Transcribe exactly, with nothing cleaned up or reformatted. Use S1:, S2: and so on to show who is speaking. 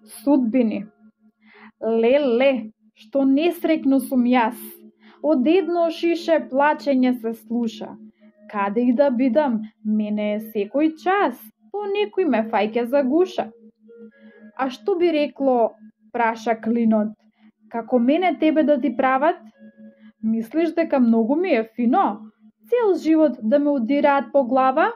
S1: Судбини. Леле, што несреќно сум јас. Од едно шише плачење се слуша. Каде и да бидам, мене е секој час, по некој ме фаќа за гуша. А што би рекло, праша клинот, како мене тебе да ти прават? Мислиш дека многу ми е фино, цел живот да ме удираат по глава?